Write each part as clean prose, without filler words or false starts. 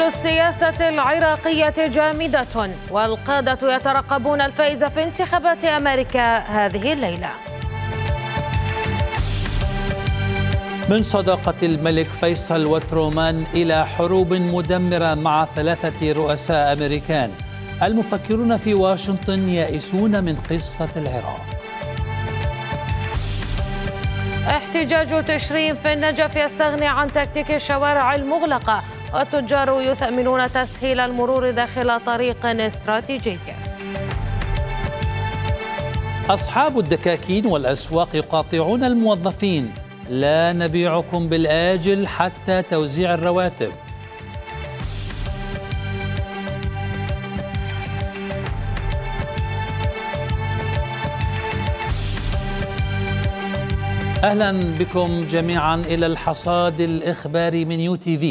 السياسة العراقية جامدة، والقادة يترقبون الفائز في انتخابات أمريكا هذه الليلة. من صداقة الملك فيصل وترومان إلى حروب مدمرة مع 3 رؤساء أمريكان، المفكرون في واشنطن يائسون من قصة العراق. احتجاج تشرين في النجف يستغني عن تكتيك الشوارع المغلقة، والتجار يثمنون تسهيل المرور داخل طريق استراتيجي. أصحاب الدكاكين والأسواق يقاطعون الموظفين: لا نبيعكم بالآجل حتى توزيع الرواتب. أهلا بكم جميعا إلى الحصاد الإخباري من UTV.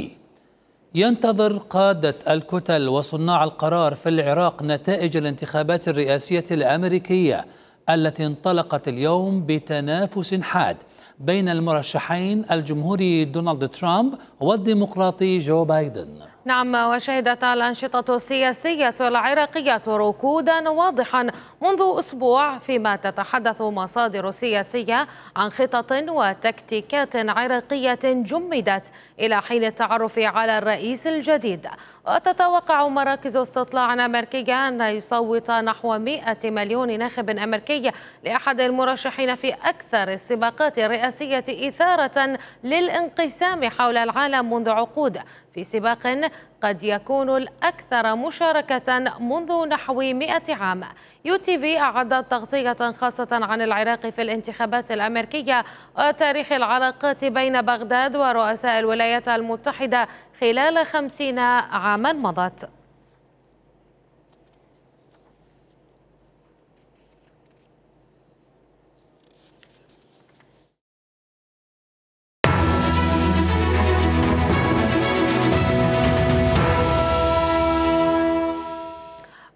ينتظر قادة الكتل وصناع القرار في العراق نتائج الانتخابات الرئاسية الأمريكية التي انطلقت اليوم بتنافس حاد بين المرشحين الجمهوري دونالد ترامب والديمقراطي جو بايدن. نعم، وشهدت الأنشطة السياسية العراقية ركودا واضحا منذ أسبوع، فيما تتحدث مصادر سياسية عن خطط وتكتيكات عراقية جمدت إلى حين التعرف على الرئيس الجديد. وتتوقع مراكز استطلاع أمريكية أن يصوت نحو 100 مليون ناخب أمريكي لأحد المرشحين في أكثر السباقات الرئاسية إثارة للانقسام حول العالم منذ عقود، في سباق قد يكون الأكثر مشاركة منذ نحو 100 عام. UTV أعدت تغطية خاصة عن العراق في الانتخابات الأمريكية وتاريخ العلاقات بين بغداد ورؤساء الولايات المتحدة خلال 50 عاما مضت.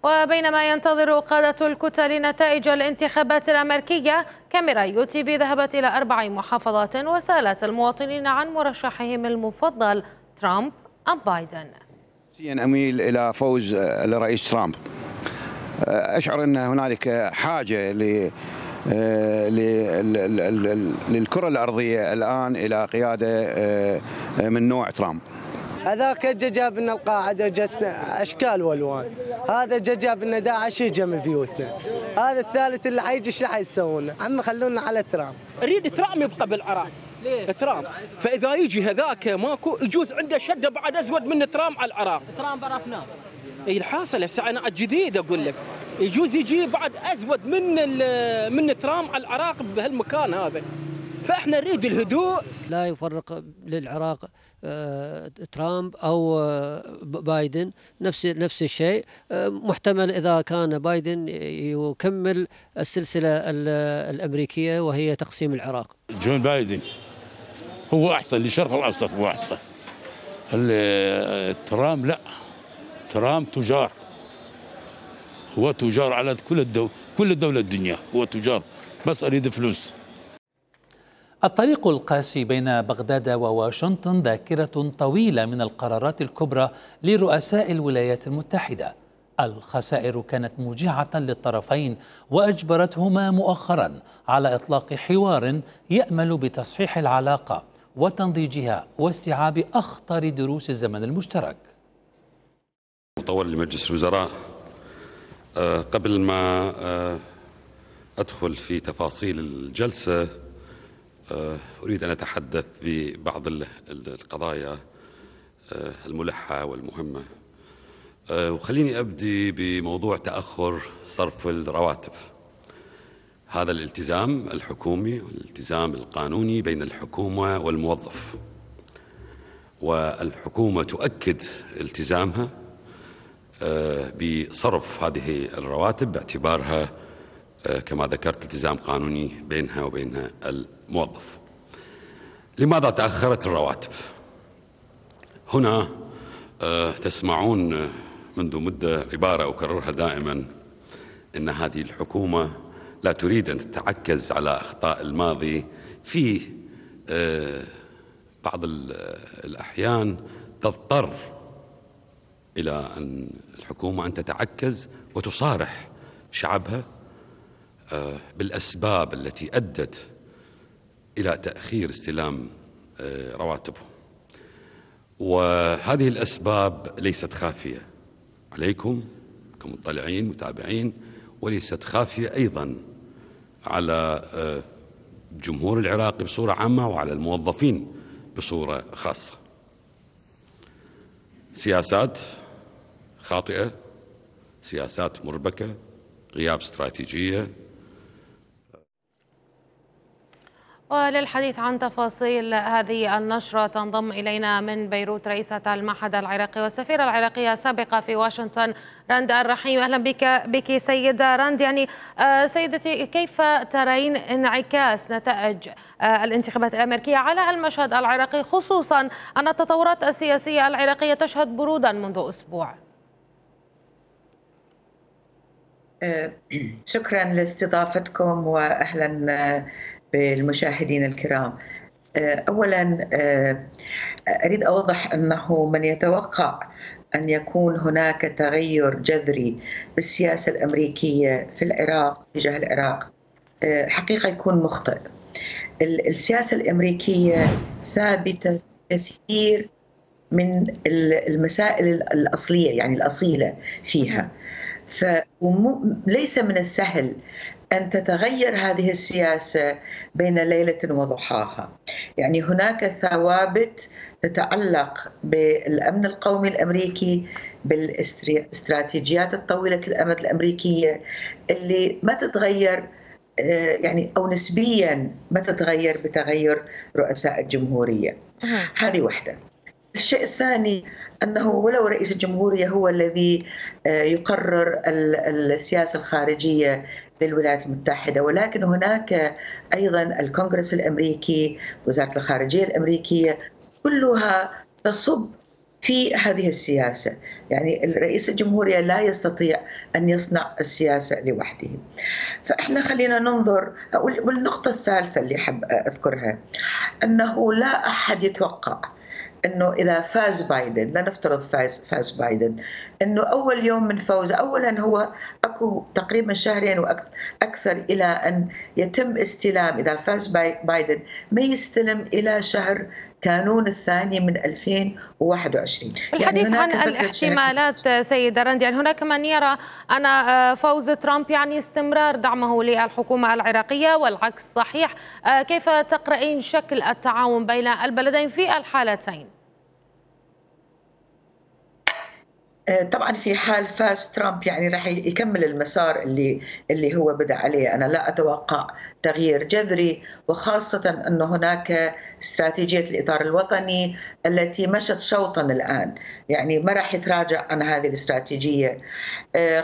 وبينما ينتظر قادة الكتل نتائج الانتخابات الأمريكية، كاميرا UTV ذهبت إلى 4 محافظات وسألت المواطنين عن مرشحهم المفضل ترامب أم بايدن. أميل إلى فوز الرئيس ترامب. أشعر أن هنالك حاجة للكرة الأرضية الآن إلى قيادة من نوع ترامب. هذاك جاب لنا القاعدة جتنا أشكال والوان، هذا جاب لنا داعش يجي من بيوتنا، هذا الثالث اللي حيجي ايش راح يسوون؟ عم خلونا على ترامب. اريد ترامب يبقى بالعراق. ليه؟ ترامب، فإذا يجي هذاك ماكو يجوز عنده شدة بعد أزود من ترامب على العراق. ترامب عرفناه. اي الحاصل هسه أنا جديد أقول لك، يجوز يجي بعد أزود من ترامب على العراق بهالمكان هذا. فاحنا نريد الهدوء. لا يفرق للعراق ترامب او بايدن، نفس الشيء. محتمل اذا كان بايدن يكمل السلسله الامريكيه وهي تقسيم العراق. جو بايدن هو احسن للشرق الاوسط، هو احسن. ترامب لا، ترامب تجار، هو تجار على كل الدولة الدنيا، هو تجار بس اريد فلوس. الطريق القاسي بين بغداد وواشنطن ذاكرة طويلة من القرارات الكبرى لرؤساء الولايات المتحدة. الخسائر كانت موجعة للطرفين وأجبرتهما مؤخرا على إطلاق حوار يأمل بتصحيح العلاقة وتنضيجها واستيعاب أخطر دروس الزمن المشترك. مطور لمجلس الوزراء، قبل ما أدخل في تفاصيل الجلسة أريد أن أتحدث ببعض القضايا الملحة والمهمة، وخليني أبدي بموضوع تأخر صرف الرواتب. هذا الالتزام الحكومي والالتزام القانوني بين الحكومة والموظف، والحكومة تؤكد التزامها بصرف هذه الرواتب باعتبارها كما ذكرت التزام قانوني بينها وبين الموظف. لماذا تأخرت الرواتب؟ هنا تسمعون منذ مدة عبارة أكررها دائما، إن هذه الحكومة لا تريد أن تتعكز على أخطاء الماضي، في بعض الأحيان تضطر إلى أن الحكومة أن تتعكز وتصارح شعبها بالأسباب التي أدت إلى تأخير استلام رواتبهم. وهذه الأسباب ليست خافية عليكم كمطلعين متابعين، وليست خافية أيضا على الجمهور العراقي بصورة عامة وعلى الموظفين بصورة خاصة. سياسات خاطئة، سياسات مربكة، غياب استراتيجية. وللحديث عن تفاصيل هذه النشرة تنضم إلينا من بيروت رئيسة المعهد العراقي والسفيرة العراقية السابقة في واشنطن رند الرحيم. أهلا بك سيدة رند. يعني سيدتي، كيف ترين انعكاس نتائج الانتخابات الأمريكية على المشهد العراقي، خصوصا أن التطورات السياسية العراقية تشهد برودا منذ أسبوع؟ شكرا لاستضافتكم وأهلا بالمشاهدين الكرام. أولا أريد أوضح أنه من يتوقع أن يكون هناك تغير جذري بالسياسة الأمريكية في العراق تجاه العراق حقيقة يكون مخطئ. السياسة الأمريكية ثابتة كثير من المسائل الأصلية، يعني الأصيلة فيها، فليس من السهل أن تتغير هذه السياسة بين ليلة وضحاها. يعني هناك ثوابت تتعلق بالأمن القومي الأمريكي، بالاستراتيجيات الطويلة الأمد الأمريكية اللي ما تتغير، يعني أو نسبيا ما تتغير بتغير رؤساء الجمهورية. هذه واحدة. الشيء الثاني أنه ولو رئيس الجمهورية هو الذي يقرر السياسة الخارجية للولايات المتحدة، ولكن هناك أيضا الكونغرس الأمريكي، وزارة الخارجية الأمريكية، كلها تصب في هذه السياسة. يعني الرئيس الجمهورية لا يستطيع أن يصنع السياسة لوحده. فإحنا خلينا ننظر. والنقطة الثالثة اللي حب أذكرها أنه لا أحد يتوقع أنه إذا فاز بايدن، لا نفترض فاز بايدن، أنه أول يوم من فوزه، أولا هو أكو تقريبا شهرين وأكثر إلى أن يتم استلام، إذا فاز بايدن ما يستلم إلى شهر كانون الثاني من 2021. الحديث عن الاحتمالات سيدة رند، يعني هناك من يرى أن فوز ترامب يعني استمرار دعمه للحكومة العراقية والعكس صحيح. كيف تقرأين شكل التعاون بين البلدين في الحالتين؟ طبعا في حال فاز ترامب يعني راح يكمل المسار اللي هو بدأ عليه. أنا لا أتوقع تغيير جذري، وخاصة أن هناك استراتيجية الإطار الوطني التي مشت شوطا الآن، يعني ما راح يتراجع عن هذه الاستراتيجية.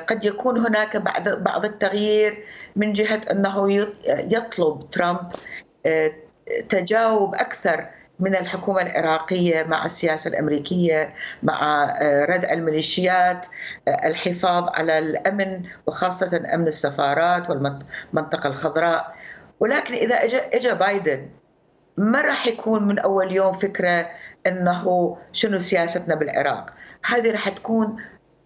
قد يكون هناك بعض التغيير من جهة أنه يطلب ترامب تجاوب أكثر من الحكومة العراقية مع السياسة الأمريكية، مع ردع الميليشيات، الحفاظ على الأمن وخاصة أمن السفارات والمنطقة الخضراء. ولكن إذا اجى بايدن ما راح يكون من أول يوم فكرة أنه شنو سياستنا بالعراق. هذه راح تكون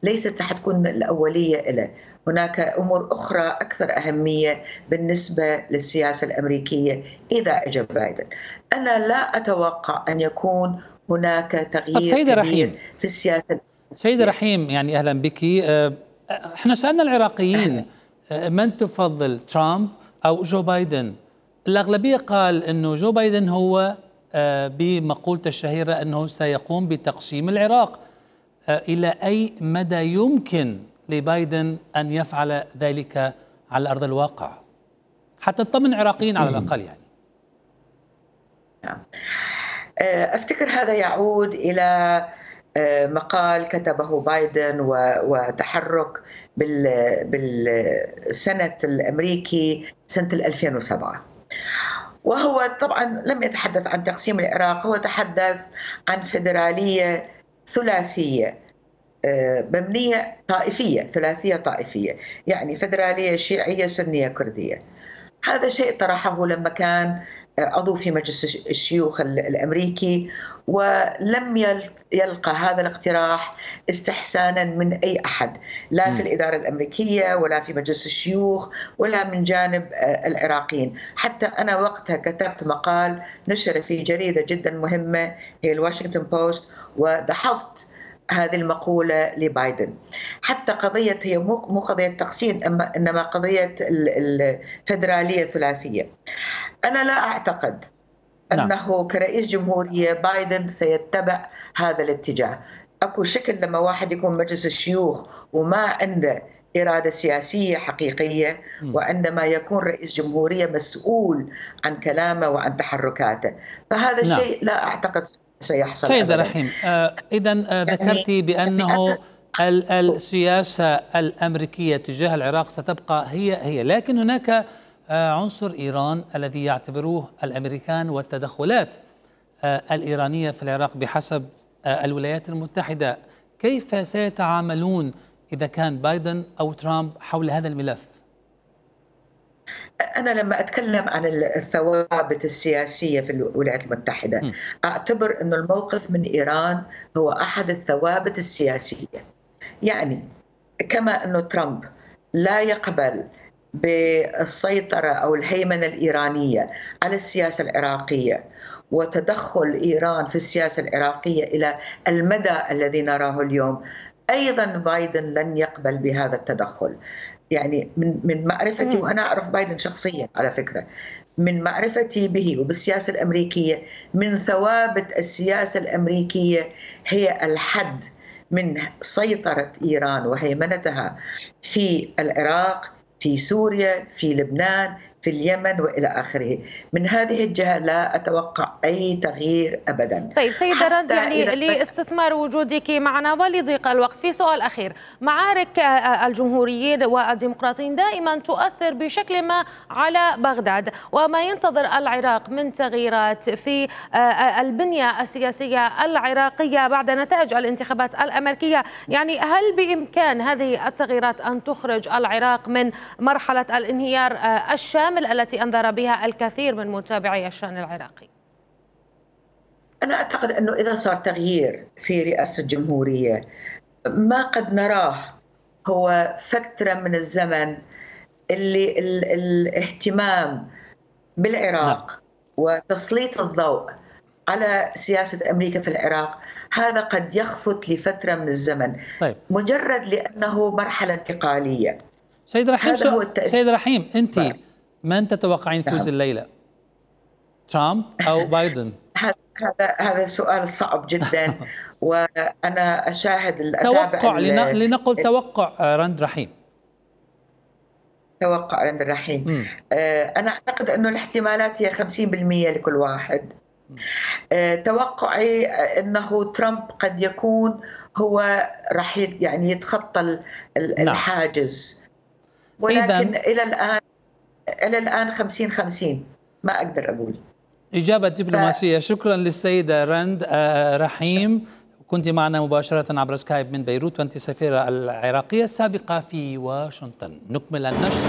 ليست راح تكون الأولية له. هناك أمور أخرى أكثر أهمية بالنسبة للسياسة الأمريكية إذا أجى بايدن. أنا لا أتوقع أن يكون هناك تغيير كبير في السياسة. سيدة رحيم، يعني أهلا بك. احنا سألنا العراقيين من تفضل، ترامب أو جو بايدن؟ الأغلبية قال أنه جو بايدن هو بمقولته الشهيرة أنه سيقوم بتقسيم العراق. إلى أي مدى يمكن لبايدن أن يفعل ذلك على أرض الواقع حتى تطمن العراقيين على الأقل؟ يعني أفتكر هذا يعود إلى مقال كتبه بايدن وتحرك بالسنة الأمريكي سنة 2007. وهو طبعا لم يتحدث عن تقسيم العراق، هو تحدث عن فيدرالية ثلاثية مبنية طائفية، ثلاثية طائفية، يعني فيدرالية شيعية سنية كردية. هذا شيء طرحه لما كان عضو في مجلس الشيوخ الأمريكي، ولم يلقى هذا الاقتراح استحسانا من أي أحد، لا في الإدارة الأمريكية ولا في مجلس الشيوخ ولا من جانب العراقيين. حتى أنا وقتها كتبت مقال نشر في جريدة جدا مهمة هي الواشنطن بوست، ودحضت هذه المقولة لبايدن. حتى قضية هي مو قضية تقسيم، إنما قضية الفيدرالية الثلاثية. أنا لا أعتقد أنه كرئيس جمهورية بايدن سيتبع هذا الاتجاه. أكو شكل لما واحد يكون مجلس الشيوخ وما عنده إرادة سياسية حقيقية، وعندما يكون رئيس جمهورية مسؤول عن كلامه وعن تحركاته، فهذا الشيء لا أعتقد سيحصل. سيدة رحيم، إذن ذكرتي بأنه السياسة الأمريكية تجاه العراق ستبقى هي، لكن هناك عنصر إيران الذي يعتبروه الأمريكان والتدخلات الإيرانية في العراق بحسب الولايات المتحدة. كيف سيتعاملون إذا كان بايدن أو ترامب حول هذا الملف؟ أنا لما أتكلم عن الثوابت السياسية في الولايات المتحدة أعتبر أن الموقف من إيران هو أحد الثوابت السياسية. يعني كما أن ترامب لا يقبل بالسيطرة أو الهيمنة الإيرانية على السياسة العراقية وتدخل إيران في السياسة العراقية إلى المدى الذي نراه اليوم، أيضا بايدن لن يقبل بهذا التدخل. يعني من معرفتي، وأنا أعرف بايدن شخصيا على فكرة، من معرفتي به وبالسياسة الأمريكية، من ثوابت السياسة الأمريكية هي الحد من سيطرة إيران وهيمنتها في العراق، في سوريا، في لبنان، في اليمن وإلى آخره. من هذه الجهة لا أتوقع أي تغيير أبدا. طيب سيدة رند، يعني لاستثمار وجودك معنا ولضيق الوقت، في سؤال أخير. معارك الجمهوريين والديمقراطيين دائما تؤثر بشكل ما على بغداد، وما ينتظر العراق من تغييرات في البنية السياسية العراقية بعد نتائج الانتخابات الأمريكية، يعني هل بإمكان هذه التغييرات أن تخرج العراق من مرحلة الانهيار الشامل التي أنذر بها الكثير من متابعي الشأن العراقي؟ أنا أعتقد أنه إذا صار تغيير في رئاسة الجمهورية، ما قد نراه هو فترة من الزمن اللي الاهتمام بالعراق وتسليط الضوء على سياسة أمريكا في العراق هذا قد يخفت لفترة من الزمن. طيب. مجرد لأنه مرحلة انتقالية. سيد رحيم، أنت من تتوقعين فوز الليلة؟ ترامب أو بايدن؟ هذا سؤال صعب جدا. وأنا أشاهد توقع، لنقل توقع رند رحيم. توقع رند رحيم. أنا أعتقد أنه الاحتمالات هي 50% لكل واحد. توقعي أنه ترامب قد يكون هو راح يعني يتخطى الحاجز، ولكن إلى الآن 50-50، ما أقدر أقول. إجابة دبلوماسية. شكرا للسيدة رند رحيم، كنت معنا مباشرة عبر سكايب من بيروت، وأنت سفيرة العراقية السابقة في واشنطن. نكمل النشر.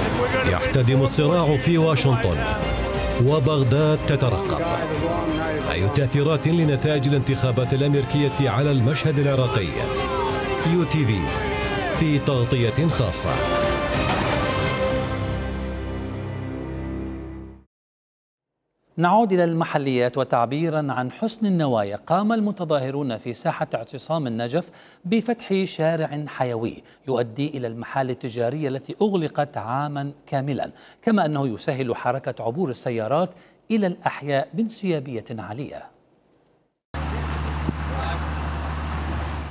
يحتدم الصراع في واشنطن وبغداد تترقب. أي تأثيرات لنتائج الانتخابات الأمريكية على المشهد العراقي؟ UTV في تغطية خاصة. نعود إلى المحليات، وتعبيرا عن حسن النوايا قام المتظاهرون في ساحة اعتصام النجف بفتح شارع حيوي يؤدي إلى المحال التجارية التي أغلقت عاما كاملا، كما أنه يسهل حركة عبور السيارات إلى الأحياء بانسيابية عالية.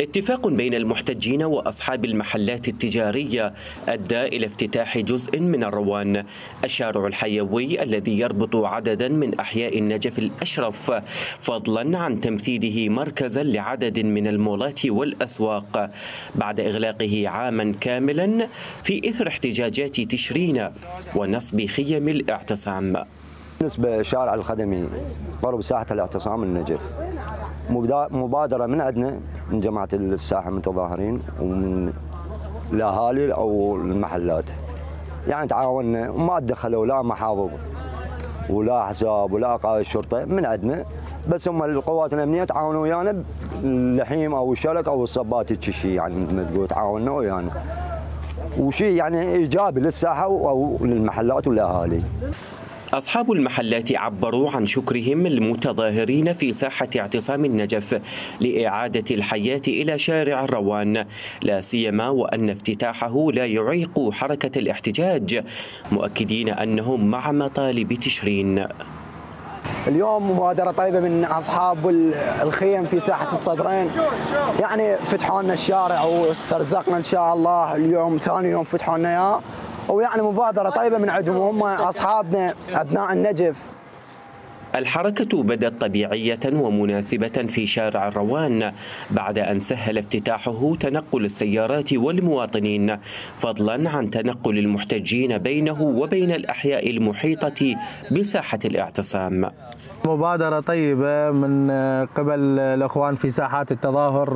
اتفاق بين المحتجين وأصحاب المحلات التجارية أدى إلى افتتاح جزء من الروان، الشارع الحيوي الذي يربط عددا من أحياء النجف الأشرف، فضلا عن تمثيله مركزا لعدد من المولات والأسواق بعد إغلاقه عاما كاملا في إثر احتجاجات تشرين ونصب خيم الاعتصام. بالنسبة للشارع الخدمي قرب ساحة الاعتصام النجف، مبادرة من عندنا من جماعة الساحة المتظاهرين ومن الأهالي أو المحلات، يعني تعاوننا وما تدخلوا لا محافظ ولا حساب ولا قائد الشرطه من عندنا، بس هم القوات الامنيه تعاونوا ويانا اللحيم او الشلك او الصبات هيك شيء، يعني مثل ما تقول تعاوننا ويانا، وشيء يعني ايجابي للساحه او للمحلات والاهالي. أصحاب المحلات عبروا عن شكرهم المتظاهرين في ساحة اعتصام النجف لإعادة الحياة إلى شارع الروان، لا سيما وأن افتتاحه لا يعيق حركة الاحتجاج، مؤكدين أنهم مع مطالب تشرين. اليوم مبادرة طيبة من أصحاب الخيم في ساحة الصدرين، يعني فتحوا لنا الشارع واسترزقنا إن شاء الله، اليوم ثاني يوم فتحوا لنا إياه، ويعني مبادرة طيبة من عندهم، هم أصحابنا أبناء النجف. الحركة بدت طبيعية ومناسبة في شارع الروان بعد أن سهل افتتاحه تنقل السيارات والمواطنين، فضلا عن تنقل المحتجين بينه وبين الأحياء المحيطة بساحة الاعتصام. مبادرة طيبة من قبل الأخوان في ساحات التظاهر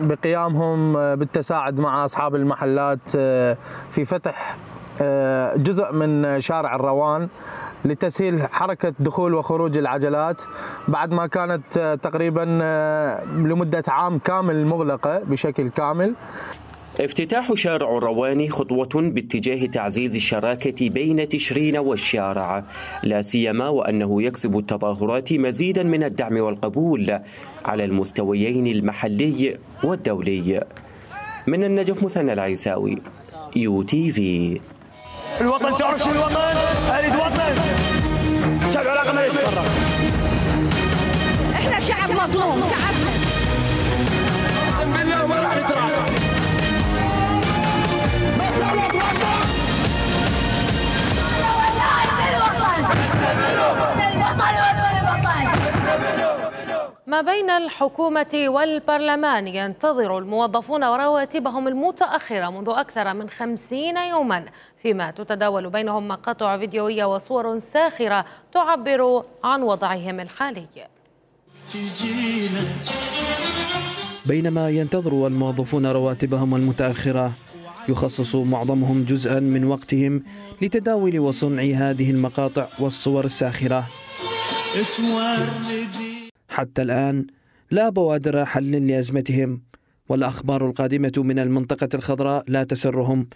بقيامهم بالتساعد مع أصحاب المحلات في فتح جزء من شارع الروان لتسهيل حركة دخول وخروج العجلات بعد ما كانت تقريبا لمدة عام كامل مغلقة بشكل كامل. افتتاح شارع الروان خطوة باتجاه تعزيز الشراكة بين تشرين والشارع، لا سيما وأنه يكسب التظاهرات مزيدا من الدعم والقبول على المستويين المحلي والدولي. من النجف مثنى العيساوي، UTV. الوطن تعرف شو الوطن؟ أريد وطن. شعب العراق ما يتفرق. احنا شعب مظلوم، شعبنا. بالله ما راح نتراجع. ما بين الحكومة والبرلمان ينتظر الموظفون رواتبهم المتأخرة منذ أكثر من 50 يوما، فيما تتداول بينهم مقاطع فيديوية وصور ساخرة تعبر عن وضعهم الحالي. بينما ينتظر الموظفون رواتبهم المتأخرة، يخصص معظمهم جزءا من وقتهم لتداول وصنع هذه المقاطع والصور الساخرة. حتى الآن لا بوادر حل لأزمتهم، والأخبار القادمة من المنطقة الخضراء لا تسرهم،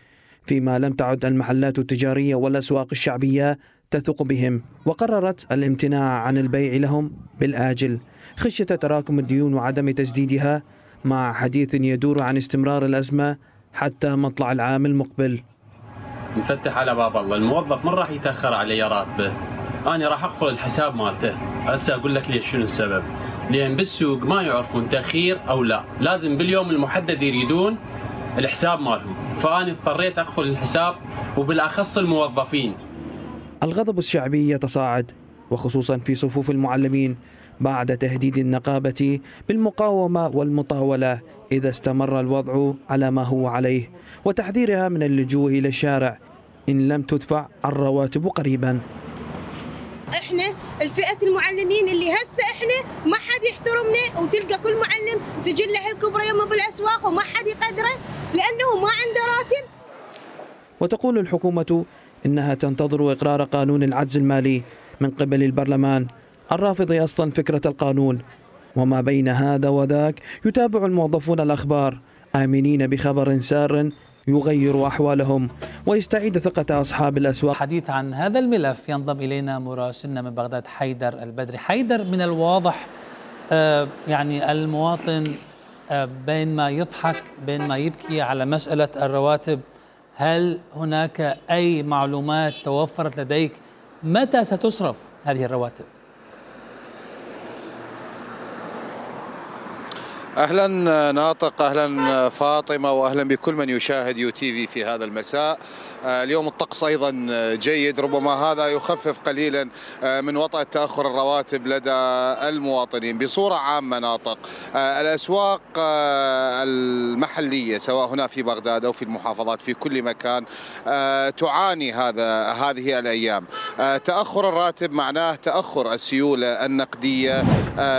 فيما لم تعد المحلات التجارية والأسواق الشعبية تثق بهم، وقررت الامتناع عن البيع لهم بالآجل خشية تراكم الديون وعدم تسديدها، مع حديث يدور عن استمرار الأزمة حتى مطلع العام المقبل. نفتح على باب الله، الموظف من راح يتأخر علي راتبه، أنا راح أقفل الحساب مالته. هسه أقول لك ليش شنو السبب؟ لأن بالسوق ما يعرفون تأخير أو لا، لازم باليوم المحدد يريدون الحساب مالهم، فأنا اضطريت أقفل الحساب وبالأخص الموظفين. الغضب الشعبي يتصاعد، وخصوصا في صفوف المعلمين، بعد تهديد النقابة بالمقاومة والمطاولة إذا استمر الوضع على ما هو عليه، وتحذيرها من اللجوء إلى الشارع إن لم تدفع الرواتب قريبا. احنا الفئة المعلمين اللي هسه احنا ما حد يحترمنا، وتلقى كل معلم سجله الكبرى يمه بالاسواق وما حد يقدره لانه ما عنده راتب. وتقول الحكومة إنها تنتظر إقرار قانون العجز المالي من قبل البرلمان الرافض أصلا فكرة القانون. وما بين هذا وذاك يتابع الموظفون الأخبار آمنين بخبر سار يغير أحوالهم ويستعيد ثقة أصحاب الأسواق. حديث عن هذا الملف ينضم إلينا مراسلنا من بغداد حيدر البدري. حيدر، من الواضح يعني المواطن بين ما يضحك بين ما يبكي على مسألة الرواتب، هل هناك أي معلومات توفرت لديك متى ستصرف هذه الرواتب؟ أهلا ناطق، أهلا فاطمة، وأهلا بكل من يشاهد UTV في هذا المساء. اليوم الطقس أيضا جيد، ربما هذا يخفف قليلا من وطأة تأخر الرواتب لدى المواطنين. بصورة عامة ناطق، الأسواق المحلية سواء هنا في بغداد أو في المحافظات في كل مكان تعاني هذه الأيام. تأخر الراتب معناه تأخر السيولة النقدية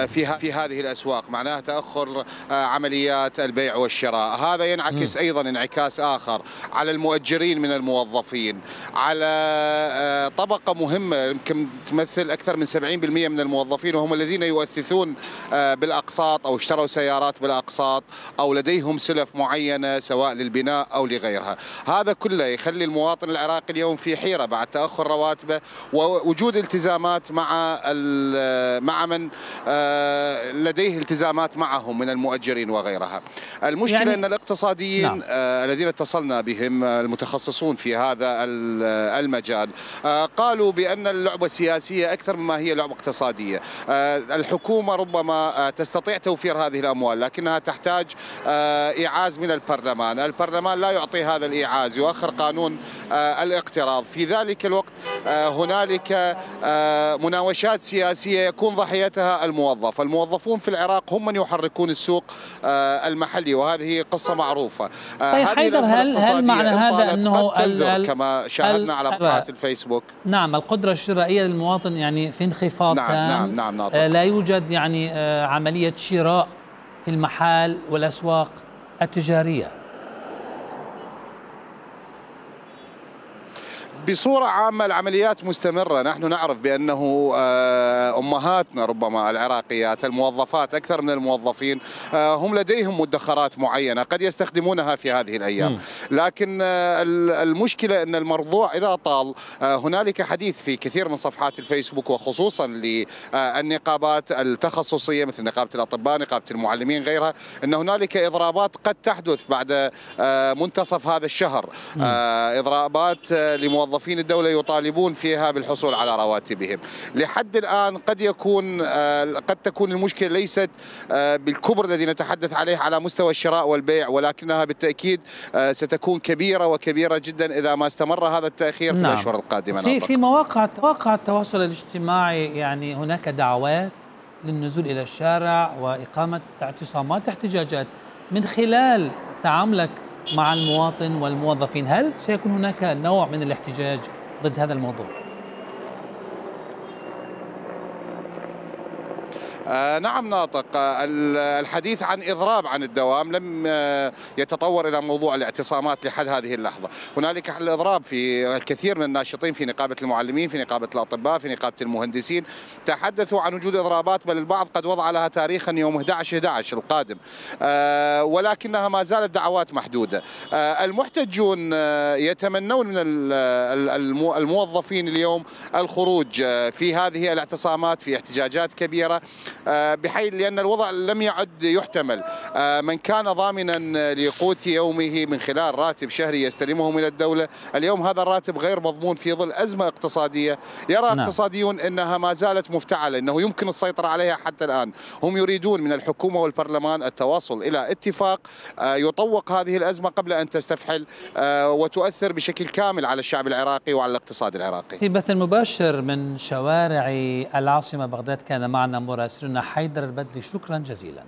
في هذه الأسواق، معناه تأخر استمرار عمليات البيع والشراء. هذا ينعكس أيضا انعكاس آخر على المؤجرين من الموظفين، على طبقة مهمة يمكن تمثل أكثر من 70% من الموظفين، وهم الذين يؤثثون بالأقساط أو اشتروا سيارات بالأقساط أو لديهم سلف معينة سواء للبناء أو لغيرها. هذا كله يخلي المواطن العراقي اليوم في حيرة بعد تأخر رواتبه ووجود التزامات مع من لديه التزامات معهم من المؤجرين وغيرها. المشكلة يعني أن الاقتصاديين الذين اتصلنا بهم المتخصصون في هذا المجال قالوا بأن اللعبة سياسية أكثر مما هي لعبة اقتصادية. الحكومة ربما تستطيع توفير هذه الأموال لكنها تحتاج إيعاز من البرلمان. البرلمان لا يعطي هذا الإيعاز، يؤخر قانون الاقتراض. في ذلك الوقت هنالك مناوشات سياسية يكون ضحيتها الموظف. الموظفون في العراق هم من يحركون السوق المحلي، وهذه هي قصة معروفة. طيب حيدر، هل معنى هذا أنه كما شاهدنا على صفحات الفيسبوك نعم القدرة الشرائية للمواطن يعني في انخفاض تام؟ نعم لا يوجد يعني عملية شراء في المحال والأسواق التجارية؟ بصورة عامة العمليات مستمرة. نحن نعرف بأنه أمهاتنا ربما العراقيات الموظفات أكثر من الموظفين هم لديهم مدخرات معينة قد يستخدمونها في هذه الأيام، لكن المشكلة أن الموضوع إذا طال هنالك حديث في كثير من صفحات الفيسبوك وخصوصا للنقابات التخصصية مثل نقابة الأطباء، نقابة المعلمين، غيرها، أن هنالك إضرابات قد تحدث بعد منتصف هذا الشهر، إضرابات لموظفين الدولة يطالبون فيها بالحصول على رواتبهم. لحد الآن قد تكون المشكلة ليست بالكبر الذي نتحدث عليه على مستوى الشراء والبيع، ولكنها بالتأكيد ستكون كبيرة وكبيرة جدا إذا ما استمر هذا التأخير في الأشهر القادمة. في مواقع التواصل الاجتماعي يعني هناك دعوات للنزول إلى الشارع وإقامة اعتصامات احتجاجات. من خلال تعاملك مع المواطن والموظفين، هل سيكون هناك نوع من الاحتجاج ضد هذا الموضوع؟ نعم ناطق. الحديث عن إضراب عن الدوام لم يتطور إلى موضوع الاعتصامات لحد هذه اللحظة. هنالك الإضراب في الكثير من الناشطين في نقابة المعلمين، في نقابة الأطباء، في نقابة المهندسين تحدثوا عن وجود إضرابات، بل البعض قد وضع لها تاريخا يوم 11/11 القادم، ولكنها ما زالت دعوات محدودة. المحتجون يتمنون من الموظفين اليوم الخروج في هذه الاعتصامات في احتجاجات كبيرة، بحيث لأن الوضع لم يعد يحتمل. من كان ضامنا لقوت يومه من خلال راتب شهري يستلمه من الدولة، اليوم هذا الراتب غير مضمون في ظل أزمة اقتصادية يرى اقتصاديون أنها ما زالت مفتعلة، أنه يمكن السيطرة عليها حتى الآن. هم يريدون من الحكومة والبرلمان التواصل إلى اتفاق يطوق هذه الأزمة قبل أن تستفحل وتؤثر بشكل كامل على الشعب العراقي وعلى الاقتصاد العراقي. في بث مباشر من شوارع العاصمة بغداد كان معنا مراسلنا حيدر البدري، شكرا جزيلا.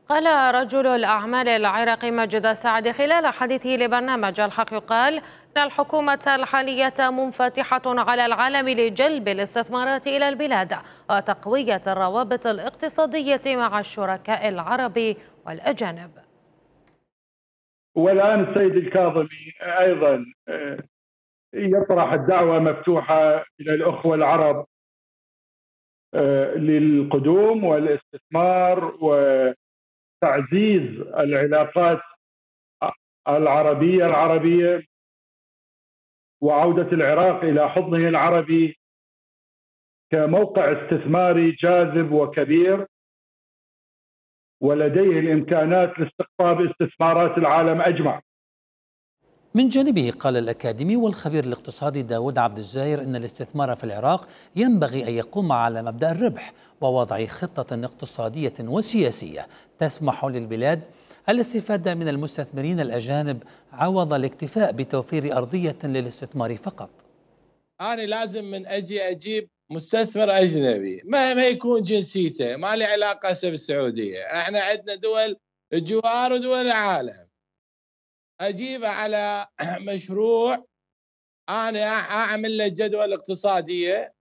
قال رجل الأعمال العراقي مجد سعد خلال حديثه لبرنامج الحق يقال أن الحكومة الحالية منفتحة على العالم لجلب الاستثمارات إلى البلاد وتقوية الروابط الاقتصادية مع الشركاء العرب والأجانب. والآن السيد الكاظمي أيضا يطرح الدعوة مفتوحة إلى الأخوة العرب للقدوم والاستثمار وتعزيز العلاقات العربية وعودة العراق إلى حضنه العربي كموقع استثماري جاذب وكبير ولديه الإمكانات لاستقطاب استثمارات العالم أجمع. من جانبه قال الأكاديمي والخبير الاقتصادي داود عبد الزاهر إن الاستثمار في العراق ينبغي أن يقوم على مبدأ الربح ووضع خطة اقتصادية وسياسية تسمح للبلاد الاستفادة من المستثمرين الأجانب عوض الاكتفاء بتوفير أرضية للاستثمار فقط. أنا لازم من أجيب مستثمر أجنبي مهما يكون جنسيته، ما لي علاقة هسه بالسعودية، احنا عندنا دول الجوار ودول العالم، أجيبه على مشروع أنا أعمل له جدول اقتصادية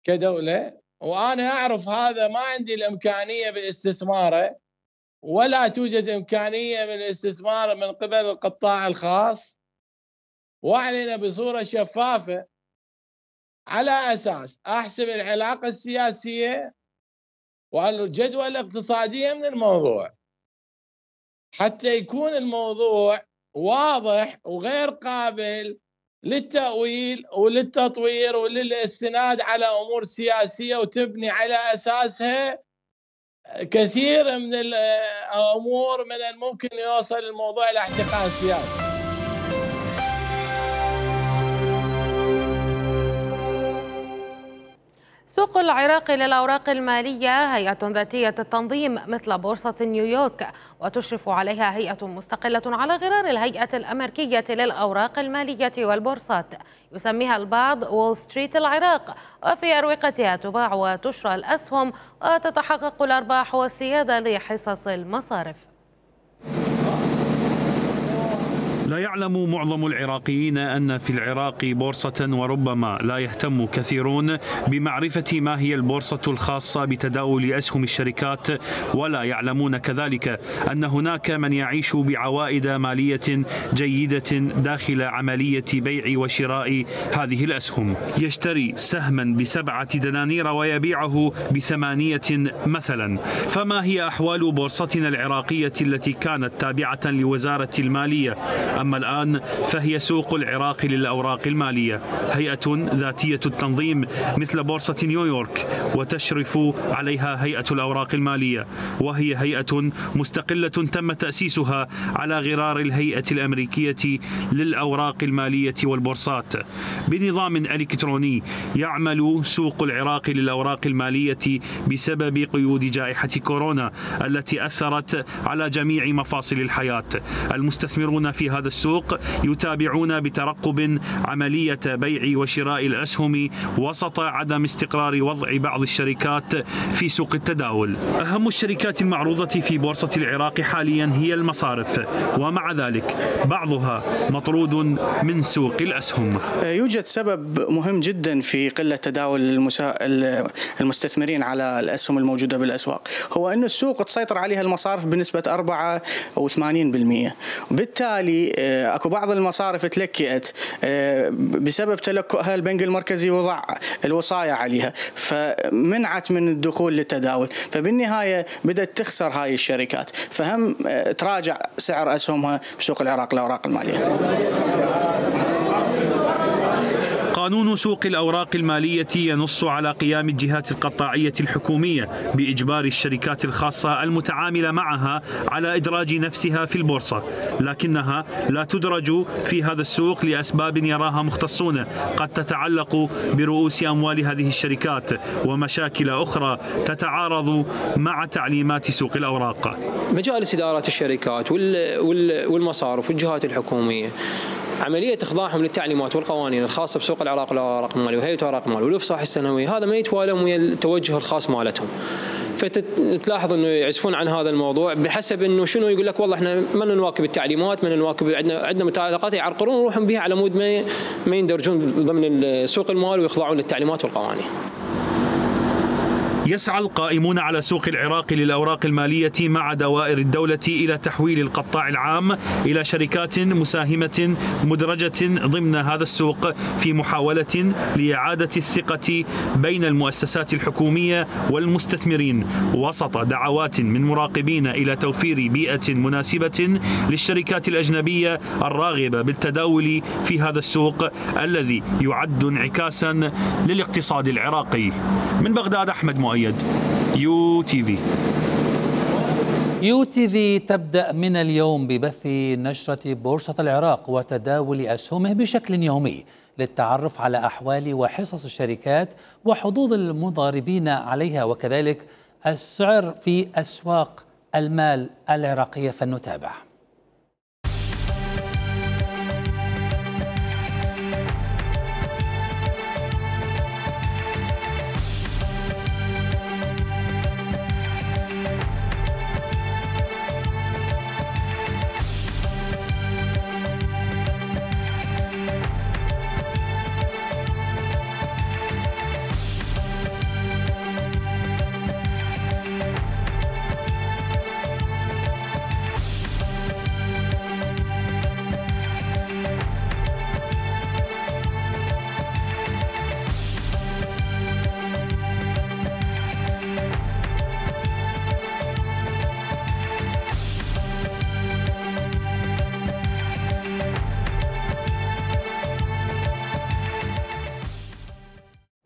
كدولة وأنا أعرف هذا ما عندي الإمكانية باستثماره، ولا توجد إمكانية من الاستثمار من قبل القطاع الخاص، وأعلن بصورة شفافة على أساس أحسب العلاقة السياسية والجدوى الاقتصادية من الموضوع، حتى يكون الموضوع واضح وغير قابل للتأويل وللتطوير وللاستناد على أمور سياسية وتبني على أساسها كثير من الأمور من الممكن يوصل الموضوع إلى احتقان سياسي. سوق العراق للأوراق المالية هيئة ذاتية التنظيم مثل بورصة نيويورك، وتشرف عليها هيئة مستقلة على غرار الهيئة الأمريكية للأوراق المالية والبورصات، يسميها البعض وول ستريت العراق، وفي أروقتها تباع وتشرى الأسهم وتتحقق الأرباح والسيادة لحصص المصارف. لا يعلم معظم العراقيين أن في العراق بورصة، وربما لا يهتم كثيرون بمعرفة ما هي البورصة الخاصة بتداول أسهم الشركات، ولا يعلمون كذلك أن هناك من يعيش بعوائد مالية جيدة داخل عملية بيع وشراء هذه الأسهم. يشتري سهما ب7 دنانير ويبيعه ب8 مثلا. فما هي أحوال بورصتنا العراقية التي كانت تابعة لوزارة المالية؟ أما الآن فهي سوق العراق للأوراق المالية، هيئة ذاتية التنظيم مثل بورصة نيويورك، وتشرف عليها هيئة الأوراق المالية، وهي هيئة مستقلة تم تأسيسها على غرار الهيئة الأمريكية للأوراق المالية والبورصات. بنظام إلكتروني يعمل سوق العراق للأوراق المالية بسبب قيود جائحة كورونا التي أثرت على جميع مفاصل الحياة. المستثمرون في هذا السوق يتابعون بترقب عملية بيع وشراء الأسهم وسط عدم استقرار وضع بعض الشركات في سوق التداول. أهم الشركات المعروضة في بورصة العراق حاليا هي المصارف، ومع ذلك بعضها مطرود من سوق الأسهم. يوجد سبب مهم جدا في قلة تداول المستثمرين على الأسهم الموجودة بالأسواق، هو أن السوق تسيطر عليها المصارف بنسبة 84%. بالتالي اكو بعض المصارف تلكئت بسبب تلكؤها البنك المركزي وضع الوصايا عليها، فمنعت من الدخول للتداول، فبالنهاية بدأت تخسر هاي الشركات، فهم تراجع سعر أسهمها بسوق العراق للأوراق المالية. قانون سوق الأوراق المالية ينص على قيام الجهات القطاعية الحكومية بإجبار الشركات الخاصة المتعاملة معها على إدراج نفسها في البورصة، لكنها لا تدرج في هذا السوق لأسباب يراها مختصون قد تتعلق برؤوس أموال هذه الشركات ومشاكل أخرى تتعارض مع تعليمات سوق الأوراق. مجالس إدارات الشركات والمصارف والجهات الحكومية عملية إخضاعهم للتعليمات والقوانين الخاصة بسوق العراق والأوراق المالية وهيئة الأوراق المالية والإفصاح السنوي، هذا ما يتوالم ويا التوجه الخاص مالتهم. فتلاحظ انه يعزفون عن هذا الموضوع بحسب انه شنو، يقول لك والله احنا ما نواكب التعليمات، ما نواكب، عندنا متعلقات يعرقلون ويروحون بها على مود ما يندرجون ضمن سوق المال ويخضعون للتعليمات والقوانين. يسعى القائمون على سوق العراق للأوراق المالية مع دوائر الدولة إلى تحويل القطاع العام إلى شركات مساهمة مدرجة ضمن هذا السوق في محاولة لإعادة الثقة بين المؤسسات الحكومية والمستثمرين، وسط دعوات من مراقبين إلى توفير بيئة مناسبة للشركات الأجنبية الراغبة بالتداول في هذا السوق الذي يعد انعكاسا للاقتصاد العراقي. من بغداد أحمد مؤيد، يو تي في. يو تي في تبدأ من اليوم ببث نشرة بورصة العراق وتداول أسهمه بشكل يومي للتعرف على أحوال وحصص الشركات وحظوظ المضاربين عليها، وكذلك السعر في أسواق المال العراقية. فلنتابع.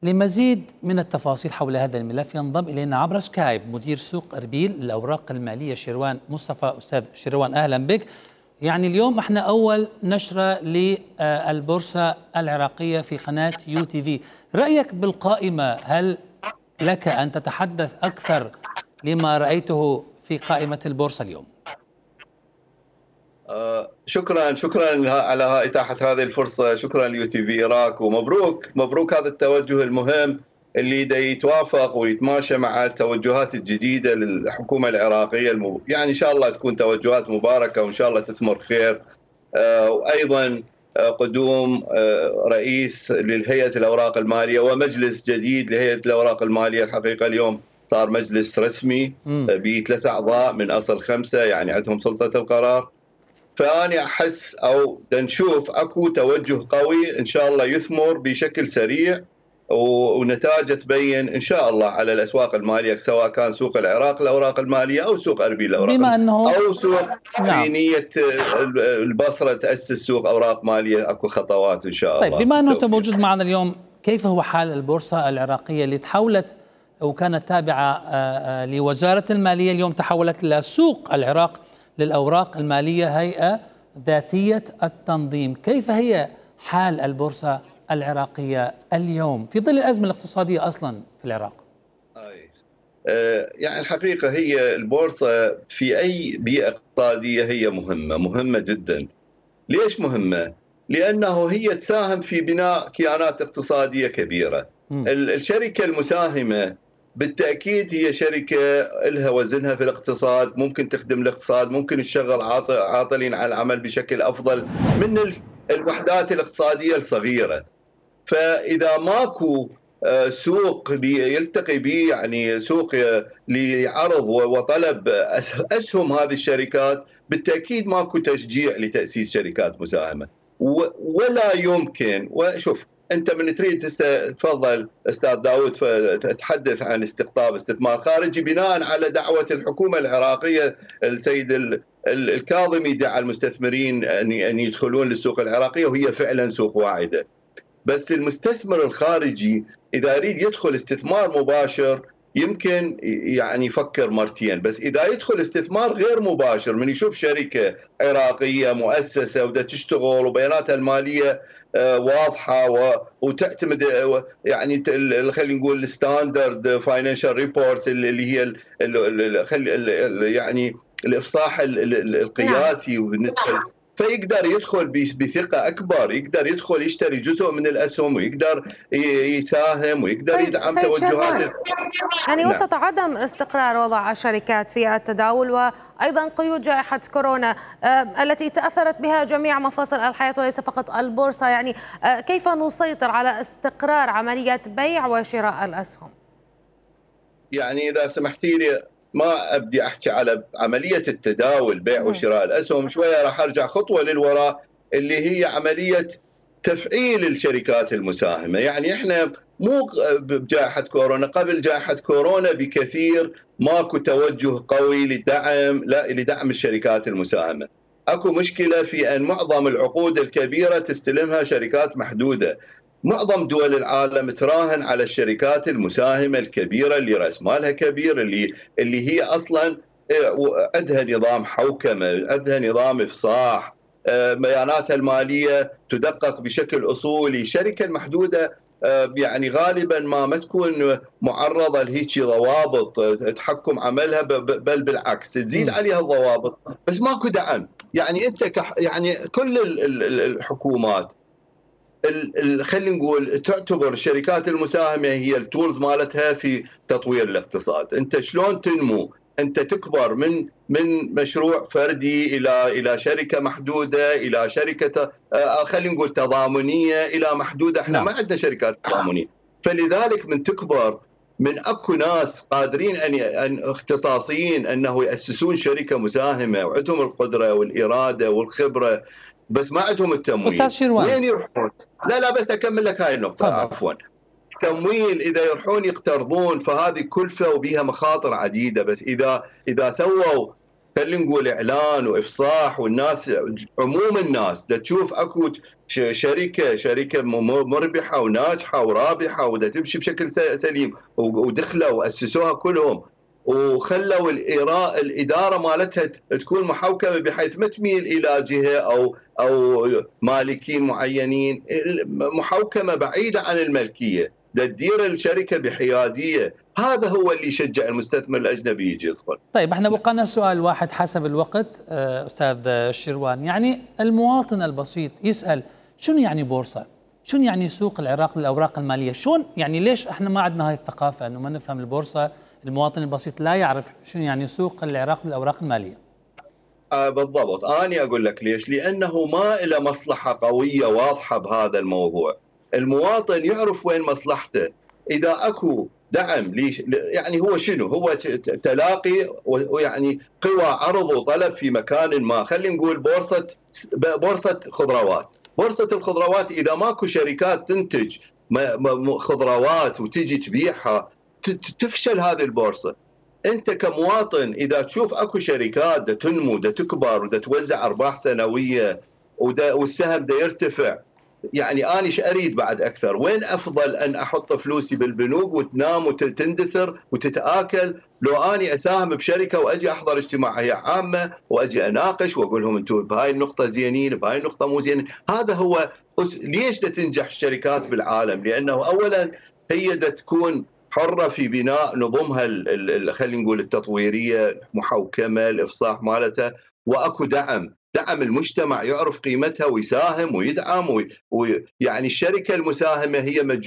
لمزيد من التفاصيل حول هذا الملف ينضم إلينا عبر سكايب مدير سوق أربيل للأوراق المالية شروان مصطفى. أستاذ شروان أهلا بك. يعني اليوم احنا أول نشرة للبورصة العراقية في قناة UTV، رأيك بالقائمة، هل لك أن تتحدث أكثر لما رأيته في قائمة البورصة اليوم؟ شكرا على إتاحة هذه الفرصة، شكرا لUTV عراق، ومبروك هذا التوجه المهم اللي دا يتوافق ويتماشى مع التوجهات الجديدة للحكومة العراقية. يعني إن شاء الله تكون توجهات مباركة وإن شاء الله تثمر خير. وأيضا قدوم رئيس للهيئة الأوراق المالية ومجلس جديد لهيئة الأوراق المالية. الحقيقة اليوم صار مجلس رسمي ب3 أعضاء من أصل 5، يعني عندهم سلطة القرار. فأنا أحس أو نشوف أكو توجه قوي إن شاء الله يثمر بشكل سريع ونتائجه تبين إن شاء الله على الأسواق المالية، سواء كان سوق العراق الأوراق المالية أو سوق أربيل الأوراق بما أنه أو سوق في نية البصرة تأسس سوق أوراق مالية. أكو خطوات إن شاء الله. طيب بما أنه أنت موجود معنا اليوم، كيف هو حال البورصة العراقية اللي تحولت وكانت تابعة لوزارة المالية، اليوم تحولت إلى سوق العراق للأوراق المالية، هيئة ذاتية التنظيم؟ كيف هي حال البورصة العراقية اليوم في ظل الأزمة الاقتصادية أصلا في العراق؟ يعني الحقيقة هي البورصة في أي بيئة اقتصادية هي مهمة جدا. ليش مهمة؟ لأنه هي تساهم في بناء كيانات اقتصادية كبيرة. الشركة المساهمة بالتأكيد هي شركة لها وزنها في الاقتصاد، ممكن تخدم الاقتصاد، ممكن تشغل عاطلين على العمل بشكل أفضل من الوحدات الاقتصادية الصغيرة. فإذا ماكو سوق يلتقي به، يعني سوق لعرض وطلب أسهم هذه الشركات، بالتأكيد ماكو تشجيع لتأسيس شركات مساهمة. ولا يمكن، وشوف أنت من تريد تفضل أستاذ داود تتحدث عن استقطاب استثمار خارجي بناء على دعوة الحكومة العراقية. السيد الكاظمي دعا المستثمرين أن يدخلون للسوق العراقية، وهي فعلا سوق واعدة. بس المستثمر الخارجي إذا يريد يدخل استثمار مباشر يمكن يعني يفكر مرتين، بس إذا يدخل استثمار غير مباشر من يشوف شركة عراقية مؤسسة ودا تشتغل وبياناتها المالية واضحة وتعتمد يعني خلينا نقول الستاندرد فاينانشال ريبورتس اللي هي يعني الإفصاح القياسي بالنسبة، فيقدر يدخل بثقة أكبر، يقدر يدخل يشتري جزء من الأسهم ويقدر يساهم ويقدر يدعم توجهات. يعني وسط عدم استقرار وضع الشركات في التداول وأيضا قيود جائحة كورونا التي تأثرت بها جميع مفاصل الحياة وليس فقط البورصة، يعني كيف نسيطر على استقرار عملية بيع وشراء الأسهم؟ يعني إذا سمحتي لي ما أبدي أحكي على عملية التداول بيع وشراء الأسهم، شوية راح أرجع خطوة للوراء اللي هي عملية تفعيل الشركات المساهمة. يعني إحنا مو بجائحة كورونا، قبل جائحة كورونا بكثير ماكو توجه قوي لدعم الشركات المساهمة. أكو مشكلة في أن معظم العقود الكبيرة تستلمها شركات محدودة. معظم دول العالم تراهن على الشركات المساهمة الكبيرة اللي رأس مالها كبير، اللي هي أصلا عندها نظام حوكمة، عندها نظام إفصاح، بياناتها المالية تدقق بشكل أصولي. الشركة المحدودة يعني غالبا ما تكون معرضة لهيك ضوابط تحكم عملها، بل بالعكس تزيد عليها الضوابط، بس ماكو دعم. يعني أنت يعني كل الحكومات خلينا نقول تعتبر الشركات المساهمة هي التولز مالتها في تطوير الاقتصاد. أنت شلون تنمو؟ أنت تكبر من مشروع فردي إلى شركة محدودة، إلى شركة خلينا نقول تضامنية إلى محدودة. احنا ما عندنا شركات تضامنية، فلذلك من تكبر من أكو ناس قادرين أن اختصاصيين أنه يأسسون شركة مساهمة وعندهم القدرة والإرادة والخبرة، بس ما عندهم التمويل. أستاذ شروان وين يروحون؟ لا بس أكمل لك هاي النقطة. عفوا. تمويل إذا يروحون يقترضون فهذه كلفة وبيها مخاطر عديدة، بس إذا سووا خلينا نقول اعلان وافصاح، والناس عموم الناس دا تشوف اكو شركه مربحه وناجحه ورابحه ودا تمشي بشكل سليم، ودخلوا واسسوها كلهم وخلوا الاداره مالتها تكون محوكمه بحيث ما تميل الى جهه او مالكين معينين، محوكمه بعيده عن الملكيه، دا تدير الشركه بحياديه. هذا هو اللي يشجع المستثمر الاجنبي يجي يدخل. طيب احنا بقى سؤال واحد حسب الوقت استاذ الشروان، يعني المواطن البسيط يسال شنو يعني بورصه؟ شنو يعني سوق العراق للاوراق الماليه؟ شلون يعني ليش احنا ما عندنا هاي الثقافه انه ما نفهم البورصه؟ المواطن البسيط لا يعرف شنو يعني سوق العراق للاوراق الماليه. بالضبط، انا اقول لك ليش؟ لانه ما له مصلحه قويه واضحه بهذا الموضوع. المواطن يعرف وين مصلحته. اذا اكو دعم ليش يعني هو شنو؟ هو تلاقي ويعني قوى عرض وطلب في مكان ما. خلينا نقول بورصه خضروات. بورصه الخضروات اذا ماكو شركات تنتج خضروات وتجي تبيعها تفشل هذه البورصه. انت كمواطن اذا تشوف اكو شركات دا تنمو دا تكبر ودا توزع ارباح سنويه والسهم دا يرتفع، يعني أنا ايش اريد بعد اكثر؟ وين افضل ان احط فلوسي بالبنوك وتنام وتندثر وتتاكل، لو اني اساهم بشركه واجي احضر اجتماعيه عامه واجي اناقش واقول لهم انتم بهاي النقطه زينين بهاي النقطه مو زينين. هذا هو ليش دا تنجح الشركات بالعالم، لانه اولا هي دا تكون حرة في بناء نظمها خلينا نقول التطويرية، محوكمة، الإفصاح مالتها، وأكو دعم المجتمع يعرف قيمتها ويساهم ويدعم يعني الشركة المساهمة هي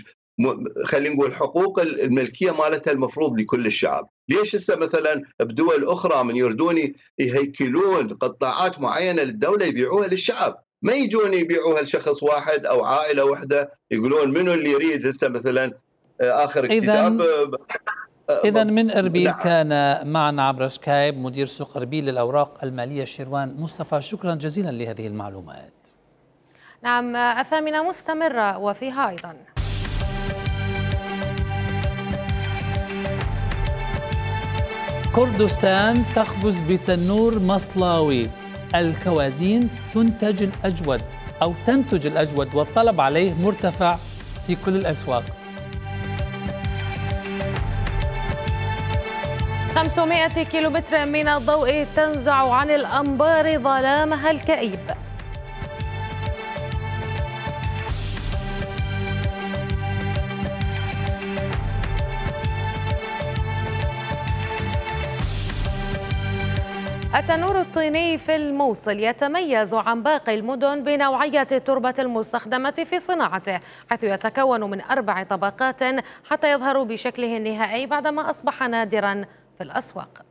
خلينا نقول حقوق الملكية مالتها المفروض لكل الشعب. ليش هسه مثلا بدول أخرى من يردون يهيكلون قطاعات معينة للدولة يبيعوها للشعب، ما يجون يبيعوها لشخص واحد أو عائلة واحدة يقولون منو اللي يريد هسه مثلا آخر اكتتاب. إذا من أربيل كان معنا عبر سكايب مدير سوق أربيل للأوراق المالية شروان مصطفى، شكرا جزيلا لهذه المعلومات. نعم، الثامنة مستمرة وفيها أيضا كردستان تخبز بتنور مصلاوي، الكوازين تنتج الأجود والطلب عليه مرتفع في كل الأسواق. 500 كيلومتر من الضوء تنزع عن الأنبار ظلامها الكئيب. التنور الطيني في الموصل يتميز عن باقي المدن بنوعية التربة المستخدمة في صناعته، حيث يتكون من 4 طبقات حتى يظهر بشكله النهائي بعدما أصبح نادرا في الأسواق.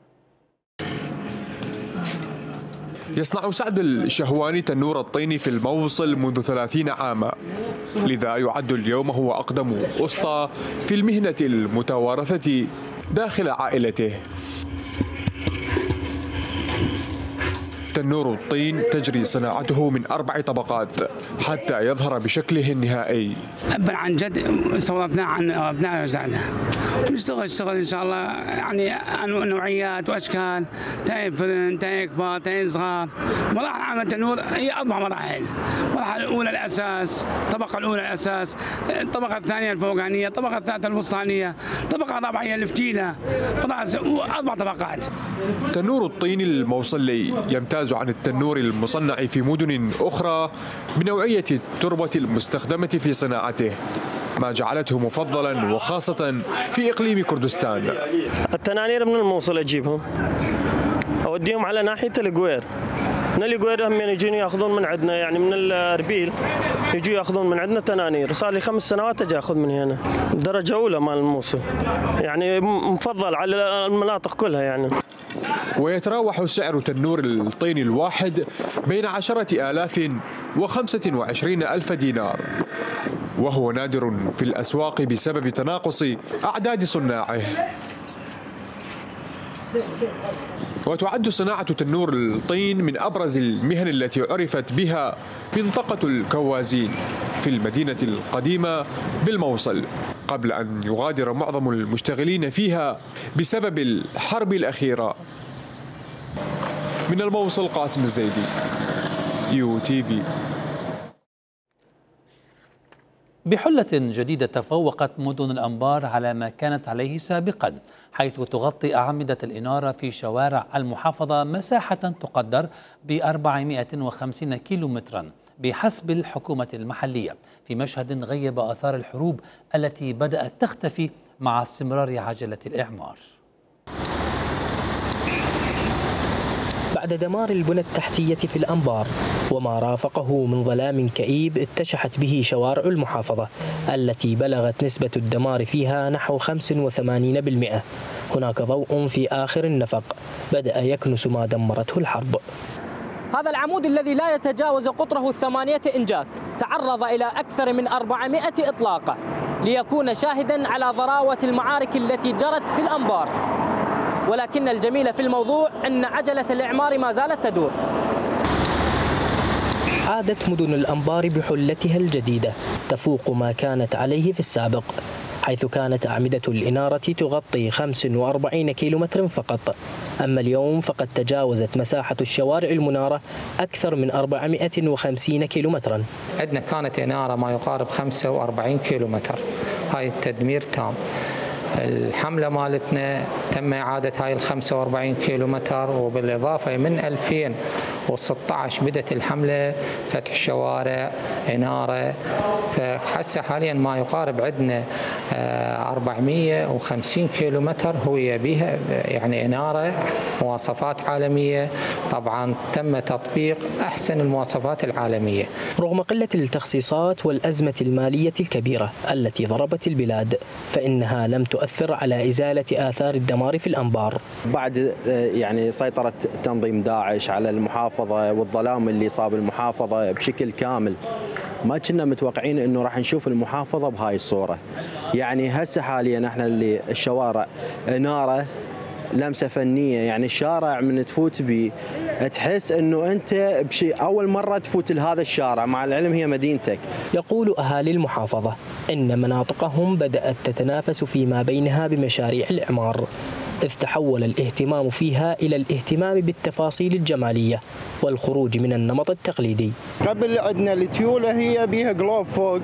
يصنع سعد الشهواني تنور الطيني في الموصل منذ 30 عاما، لذا يعد اليوم هو أقدم أسطى في المهنة المتوارثة داخل عائلته. تنور الطين تجري صناعته من 4 طبقات حتى يظهر بشكله النهائي. أبا عن جد سولفنا عن أبناء أجدادنا، نشتغل إن شاء الله يعني نوعيات وأشكال، تاين فذن، تاين كبار، تاين صغار. مراحل عمل تنور هي 4 مراحل. المرحلة الأولى الأساس، الطبقة الأولى الأساس، الطبقة الثانية الفوقانية، الطبقة الثالثة الوسطانية، الطبقة الرابعة هي الفتيلة، 4 طبقات. تنور الطين الموصلي يمتاز عن التنور المصنع في مدن أخرى بنوعية التربة المستخدمة في صناعته، ما جعلته مفضلا وخاصة في إقليم كردستان. التنانير من الموصل أجيبهم أوديهم على ناحية القوير. من القوير هم يجون ياخذون من عندنا، يعني من الأربيل يجوا ياخذون من عندنا تنانير. صار لي 5 سنوات أجي أخذ من هنا، درجة أولى مال الموصل، يعني مفضل على المناطق كلها يعني. ويتراوح سعر تنور الطين الواحد بين 10,000 و25,000 دينار، وهو نادر في الأسواق بسبب تناقص أعداد صناعه. وتعد صناعة تنور الطين من أبرز المهن التي عرفت بها منطقة الكوازين في المدينة القديمة بالموصل، قبل أن يغادر معظم المشتغلين فيها بسبب الحرب الأخيرة. من الموصل قاسم الزيدي، UTV. بحلة جديدة تفوقت مدن الأنبار على ما كانت عليه سابقا، حيث تغطي أعمدة الإنارة في شوارع المحافظة مساحة تقدر ب 450 كيلومترا بحسب الحكومة المحلية، في مشهد غيب آثار الحروب التي بدأت تختفي مع استمرار عجلة الإعمار. بعد دمار البنى التحتية في الأنبار وما رافقه من ظلام كئيب اتشحت به شوارع المحافظة التي بلغت نسبة الدمار فيها نحو 85%. هناك ضوء في آخر النفق بدأ يكنس ما دمرته الحرب. هذا العمود الذي لا يتجاوز قطره 8 إنجات تعرض إلى أكثر من 400 إطلاق ليكون شاهدا على ضراوة المعارك التي جرت في الأنبار، ولكن الجميل في الموضوع أن عجلة الإعمار ما زالت تدور. عادت مدن الأنبار بحلتها الجديدة تفوق ما كانت عليه في السابق، حيث كانت أعمدة الإنارة تغطي 45 كيلومتر فقط، أما اليوم فقد تجاوزت مساحة الشوارع المنارة أكثر من 450 كيلومترا. عندنا كانت إنارة ما يقارب 45 كيلومتر، هاي التدمير تام. الحملة مالتنا تم إعادة هاي ال 45 كيلومتر، وبالإضافة من 2016 بدأت الحملة فتح شوارع إنارة، فحسه حاليا ما يقارب عندنا 450 كيلومتر هو بها يعني إنارة مواصفات عالمية. طبعا تم تطبيق أحسن المواصفات العالمية. رغم قلة التخصيصات والأزمة المالية الكبيرة التي ضربت البلاد، فإنها لم تؤثر على إزالة آثار الدمار في الأنبار. بعد يعني سيطرة تنظيم داعش على المحافظة والظلام اللي صاب المحافظة بشكل كامل، ما كنا متوقعين انه راح نشوف المحافظة بهاي الصورة. يعني هسه حاليا احنا اللي الشوارع إنارة لمسة فنية، يعني الشارع من تفوت به تحس انه انت اول مرة تفوت لهذا الشارع، مع العلم هي مدينتك. يقول اهالي المحافظة ان مناطقهم بدأت تتنافس فيما بينها بمشاريع الإعمار، إذ تحول الاهتمام فيها إلى الاهتمام بالتفاصيل الجمالية والخروج من النمط التقليدي. قبل عندنا التيولة هي بيها جلوب فوق،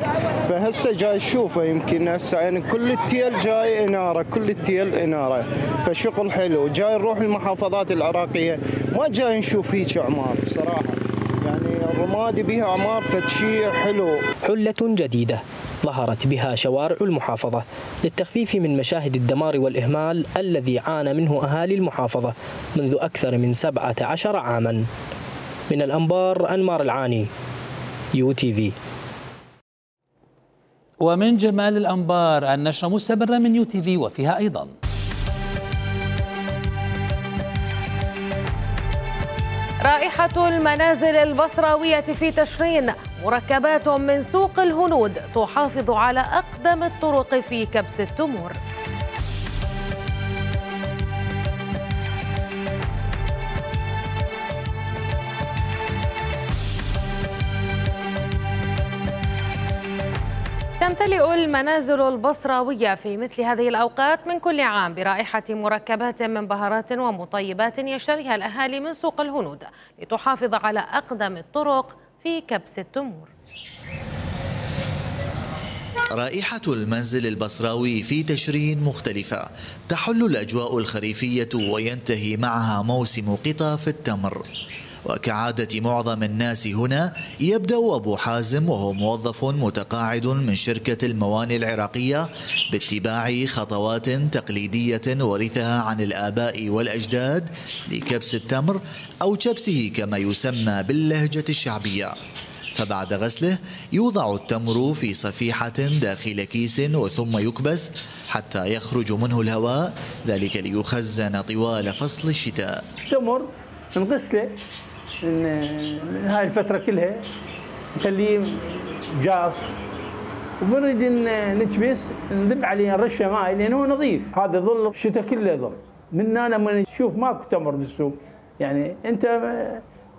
فهسه جاي تشوفه يمكن هسه يعني كل التيل جاي إنارة، كل التيل إنارة، فشغل حلو. جاي نروح المحافظات العراقية ما جاي نشوف هيك أعمار صراحة، يعني الرمادي بيها أعمار فتشي حلو. حلة جديدة ظهرت بها شوارع المحافظة للتخفيف من مشاهد الدمار والإهمال الذي عانى منه أهالي المحافظة منذ أكثر من 17 عاما. من الأنبار أنمار العاني، UTV. ومن جمال الأنبار النشرة مستمرة من UTV وفيها أيضا رائحة المنازل البصراوية في تشرين، مركبات من سوق الهنود تحافظ على أقدم الطرق في كبس التمور. تمتلئ المنازل البصراوية في مثل هذه الأوقات من كل عام برائحة مركبات من بهارات ومطيبات يشتريها الأهالي من سوق الهنود لتحافظ على أقدم الطرق في كبس التمور. رائحة المنزل البصراوي في تشرين مختلفة، تحل الأجواء الخريفية وينتهي معها موسم قطف التمر. وكعادة معظم الناس هنا، يبدأ أبو حازم وهو موظف متقاعد من شركة الموانئ العراقية باتباع خطوات تقليدية ورثها عن الآباء والأجداد لكبس التمر أو كبسه كما يسمى باللهجة الشعبية. فبعد غسله يوضع التمر في صفيحة داخل كيس وثم يكبس حتى يخرج منه الهواء، ذلك ليخزن طوال فصل الشتاء. التمر نغسله من هاي الفترة كلها نخليه جاف، وبنريد نكبس نذب عليه نرشه ماء لأنه هو نظيف. هذا ظل الشتاء كله يظل. من هنا لما تشوف ماكو تمر بالسوق، يعني أنت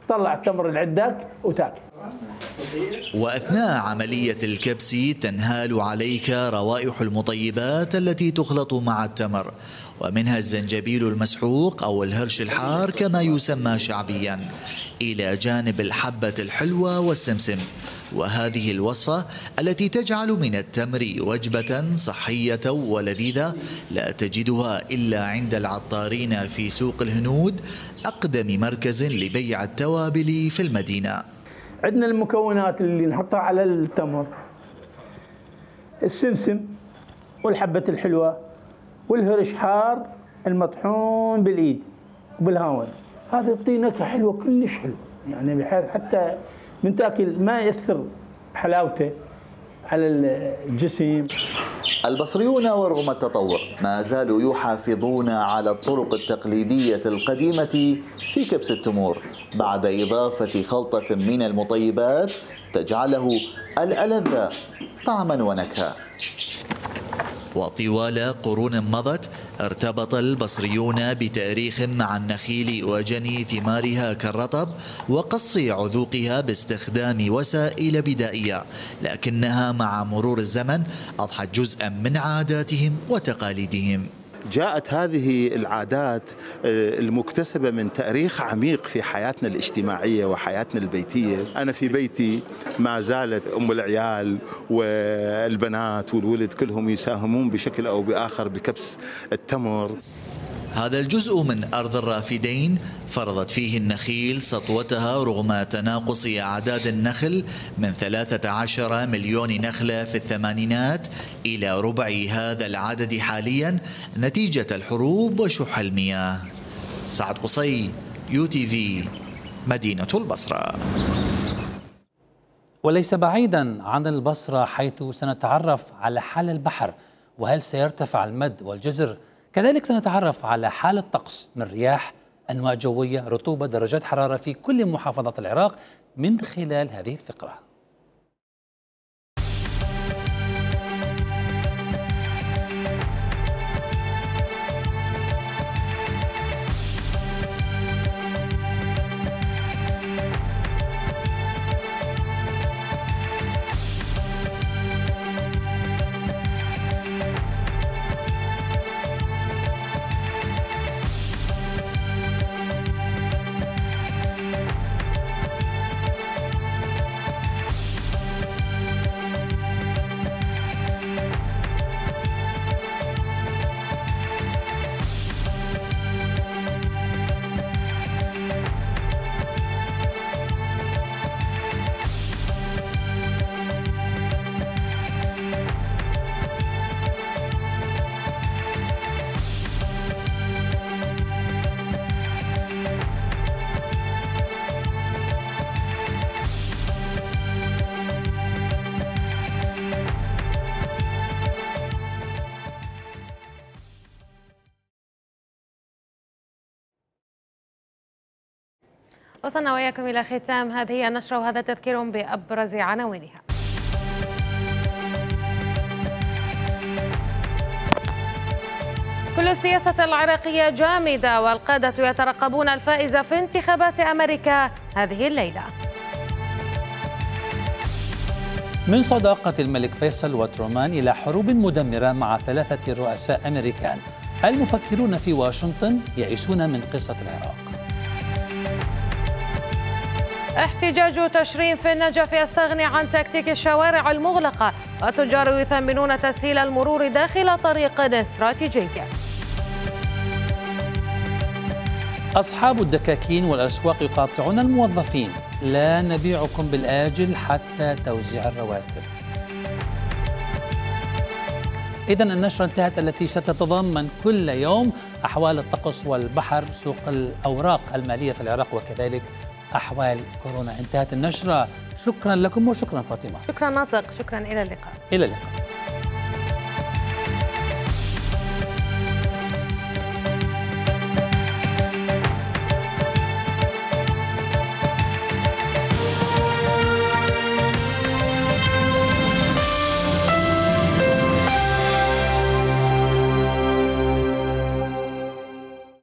طلع التمر اللي عندك وتاكل. وأثناء عملية الكبس تنهال عليك روائح المطيبات التي تخلط مع التمر، ومنها الزنجبيل المسحوق أو الهرش الحار كما يسمى شعبيا، إلى جانب الحبة الحلوة والسمسم. وهذه الوصفة التي تجعل من التمر وجبة صحية ولذيذة لا تجدها إلا عند العطارين في سوق الهنود، أقدم مركز لبيع التوابل في المدينة. عندنا المكونات اللي نحطها على التمر: السمسم والحبة الحلوة والهرش حار المطحون بالإيد وبالهاون. هذا يعطي نكهة حلوة كلش حلوة، يعني بحيث حتى من تاكل ما يأثر حلاوته على الجسم. البصريون ورغم التطور ما زالوا يحافظون على الطرق التقليدية القديمة في كبس التمور، بعد إضافة خلطة من المطيبات تجعله الألذ طعما ونكهة. وطوال قرون مضت ارتبط البصريون بتاريخ مع النخيل وجني ثمارها كالرطب وقص عذوقها باستخدام وسائل بدائية، لكنها مع مرور الزمن أضحت جزءا من عاداتهم وتقاليدهم. جاءت هذه العادات المكتسبة من تاريخ عميق في حياتنا الاجتماعية وحياتنا البيتية. أنا في بيتي ما زالت أم العيال والبنات والولد كلهم يساهمون بشكل أو بآخر بكبس التمر. هذا الجزء من أرض الرافدين فرضت فيه النخيل سطوتها رغم تناقص أعداد النخل من 13 مليون نخلة في الثمانينات إلى ربع هذا العدد حاليا نتيجة الحروب وشح المياه. سعد قصي، UTV، مدينة البصرة. وليس بعيدا عن البصرة حيث سنتعرف على حال البحر، وهل سيرتفع المد والجزر؟ كذلك سنتعرف على حال الطقس من رياح، أنواع جوية، رطوبة، درجات حرارة في كل محافظات العراق من خلال هذه الفقرة. وصلنا وإياكم إلى ختام هذه النشرة، وهذا تذكير بأبرز عناوينها. كل السياسة العراقية جامدة، والقادة يترقبون الفائز في انتخابات أمريكا هذه الليلة. من صداقة الملك فيصل وترومان إلى حروب مدمرة مع 3 رؤساء أمريكان، المفكرون في واشنطن يئسون من قصة العراق. احتجاج تشرين في النجف يستغني عن تكتيك الشوارع المغلقة، والتجار يثمنون تسهيل المرور داخل طريق استراتيجي. أصحاب الدكاكين والأسواق يقاطعون الموظفين، لا نبيعكم بالآجل حتى توزيع الرواتب. إذن النشرة انتهت، التي ستتضمن كل يوم أحوال الطقس والبحر، سوق الأوراق المالية في العراق، وكذلك أحوال كورونا. انتهت النشرة، شكرا لكم وشكرا فاطمة. شكرا ناطق، شكرا، إلى اللقاء. إلى اللقاء.